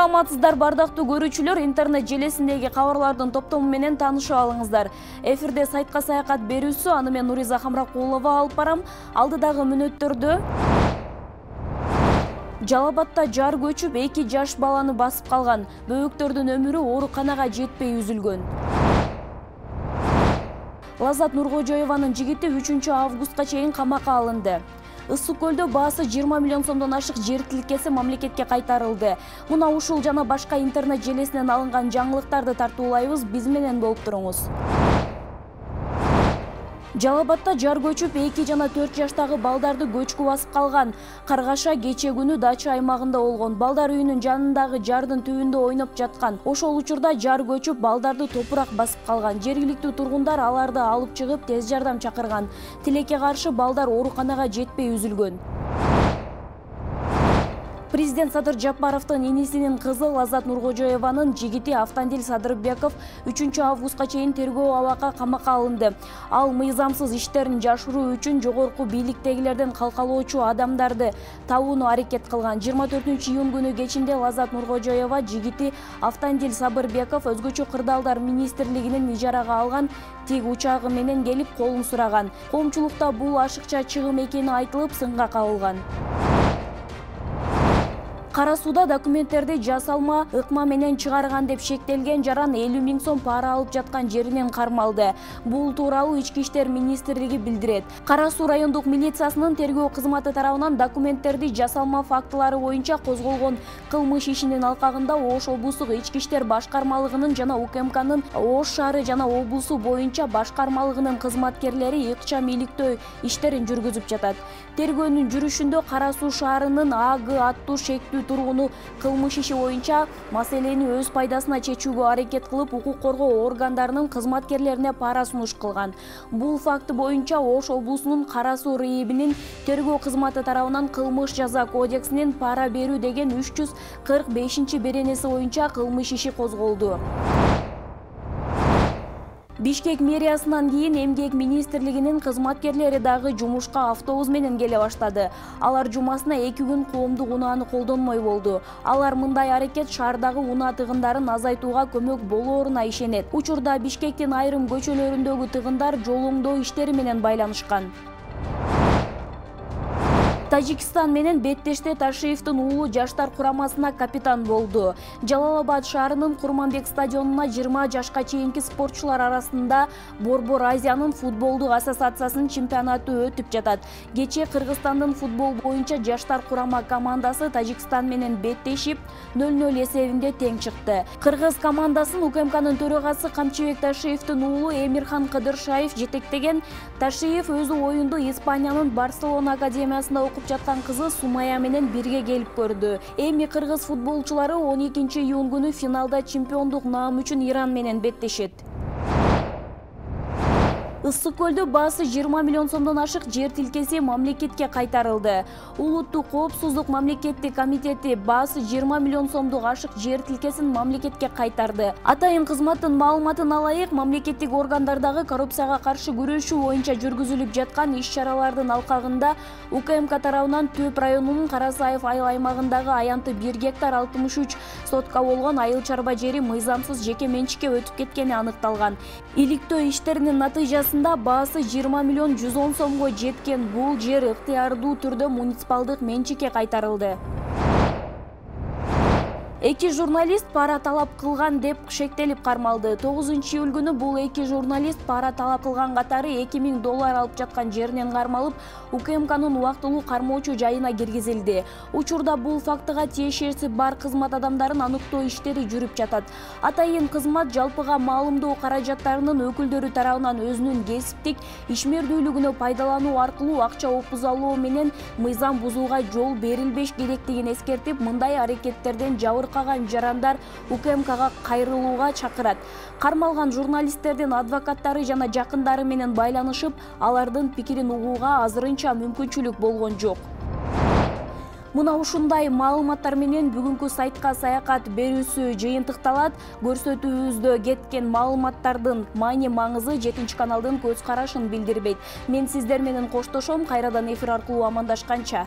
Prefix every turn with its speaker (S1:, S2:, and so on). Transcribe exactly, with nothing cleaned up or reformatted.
S1: Саламатсыздар бардактуу көрүүчүлөр, интернет желесиндеги кабарлардын топтому менен таанышып алыңыздар. Эфирде сайтка саякат берүүсү, аны мен Нуриза Хамракулова алып барам. Алдыдагы мүнөттөрдө Жалал Абадта жар көчүп, эки жаш баланы басып калган. Бөбөктөрдүн өмүрү ооруканага жетпей үзүлгөн. Лаззат Нуркожоеванын жигити үчүнчү августка чейин камакка алынды. Ысык көлдө баасы жыйырма миллион сомдон ашык жер тилкеси мамлекетке кайтарылды. Муна ушул жана башка интернет желесинен алынган жаңылыктарды тартуулайбыз, биз менен болуп туруңуз. Жалал Абадта жар көчүп, эки жана төрт жаштагы балдарды көчкү басып калган. Каргаша кече күнү дача аймагында болгон. Балдар үйүнүн жанындагы жардын түбүндө ойноп жаткан. Ошол учурда жар көчүп, балдарды топурак басып калган. Жергиликтүү тургундар аларды алып чыгып, тез жардам чакырган. Тилекке каршы балдар ооруканага жетпей үзүлгөн. Президент Садыр Жапаровдун инисинин кызы Лаззат Нуркожоеванын жигити Автандил Садырбеков үчүнчү августка чейин тергөө абакка камакка алынды. Ал мыйзамсыз иштерин жашыруу үчүн жогорку бийликтегилерден калкалоочу адамдарды табууну аракет кылган. жыйырма төртүнчү июнь күнү кечинде Лаззат Нуркожоева жигити Автандил Садырбеков өзгөчө кырдаалдар министрлигинин ижарага алган тиг учагы менен келип колун сураган. Коомчулукта бул ашыкча чыгым экени айтылып, сынга кабылган. Кара сууда документтерди жасалма ыкма менен чыгарган деп шектелген жаран элүү миң сом пара алып жаткан жеринен кармалды. Бул тууралуу Ички иштер министрлиги билдирет. Кара суу райондук милициясынын тергөө кызматы тарабынан документтерди жасалма фактылары боюнча козголгон кылмыш ишинин алкагында Ош облустук Ички иштер башкармалыгынын жана УКМКнын Ош шаары жана облусу боюнча башкармалыгынын кызматкерлери ыкчам иликтөө иштерин жүргүзүп жатат. Тергөөнүн жүрүшүндө Кара суу шаарынын А Г аттуу шектүү тургуну кылмыш иши боюнча маселени өз пайдасына чечүүгө аракет кылып, укук коргоо органдарынын кызматкерлерине пара сунуш кылган. Бул факты боюнча Ош облусунун Кара суу РИИБинин тергөө кызматы тарабынан кылмыш жаза кодексинин пара берүү деген үч жүз кырк бешинчи беренеси боюнча кылмыш иши козголду. Бишкек мэриясынан кийин Эмгек министрлигинин кызматкерлери дагы жумушка автобус менен келе баштады. Алар жумасына эки күн коомдук унааны колдонмой болду. Алар мындай аракет шаардагы унаа тыгындарын азайтууга көмөк болооруна ишенет. Учурда Бишкектин айрым көчөлөрүндөгү тыгындар жол оңдоо иштери менен байланышкан. Тажикстан менен беттеште Ташиевдин уулу жаштар курамасына капитан болду. Жалал Абад шаарынын Курманбек стадионуна жыйырма жашка чейинки спортчулар арасында Борбор Азиянын футболдук ассоциациясынын чемпионаты өтүп жатат. Кечээ Кыргызстандын футбол боюнча жаштар курама командасы Тажикстан менен беттешип нөл нөл эсебинде тең чыкты. Кыргыз командасын УКМКнын төрагасы Камчыбек Ташиевдин уулу Эмирхан Кыдыршаев жетектеген. Ташиев өзү оюнду Испаниянын Барселона академиясында окуп жаткан кызы Сумая менен бирге келип көрдү. Эми кыргыз футболчулары он экинчи июнь күнү финалда чемпиондук наам үчүн Иран менен беттешет. Ысык көлдө баасы жыйырма миллион сомдон ашык жер тилкеси мамлекетке кайтарылды. Улуттук коопсуздук мамлекеттик комитети баасы жыйырма миллион сомдук ашык жер тилкесин мамлекетке кайтарды. Атайын кызматтын маалыматын алайык, мамлекеттик органдардагы коррупцияга каршы күрөшүү боюнча жүргүзүлүп жаткан иш-чаралардын алкагында УКМК тарабынан Төп районунун Карасаев айыл аймагындагы аянты бир гектар алтымыш үч сотка болгон айыл чарба жери мыйзамсыз жеке менчикке өтүп кеткени аныкталган. Иликтөө иштеринин натыйжасында баасы жыйырма миллион жүз он сомго жеткен бул жер ыктыярдуу түрдө муниципалдык менчикке кайтарылды. Эки журналист пара талап кылган деп шектелип кармалды. тогузунчу июль күнү бул эки журналист пара талап кылган катары эки миң доллар алып жаткан жеринен кармалып, УКМКнын убактылуу кармоочу жайына киргизилди. Учурда бул фактыга тиешеси бар кызмат адамдарын аныктоо иштери жүрүп жатат. Атайын кызмат жалпыга маалымдоо каражаттарынын өкүлдөрү тарабынан өзүнүн кесиптик ишмердүүлүгүнө пайдалануу аркылуу акча опузалоо менен мыйзам бузууга жол берилбеш керектигин эскертип, мындай аракеттерден жабыр каган жарандар УКМКга кайрылууга чакырат. Кармалган журналисттердин адвокаттары жана жакындары менен байланышып, алардын пикирин угууга азырынча мүмкүнчүлүк болгон жок. Мына ушундай маалыматтар менен бүгүнкү сайтка саякат берүүсү жыйынтыкталат. Көрсөтүүбүздө кеткен маалыматтардын маани маңызы жетинчи каналдын көз карашын билдирбейт. Мен сиздер менен коштошом, кайрадан эфир аркылуу амандашканча.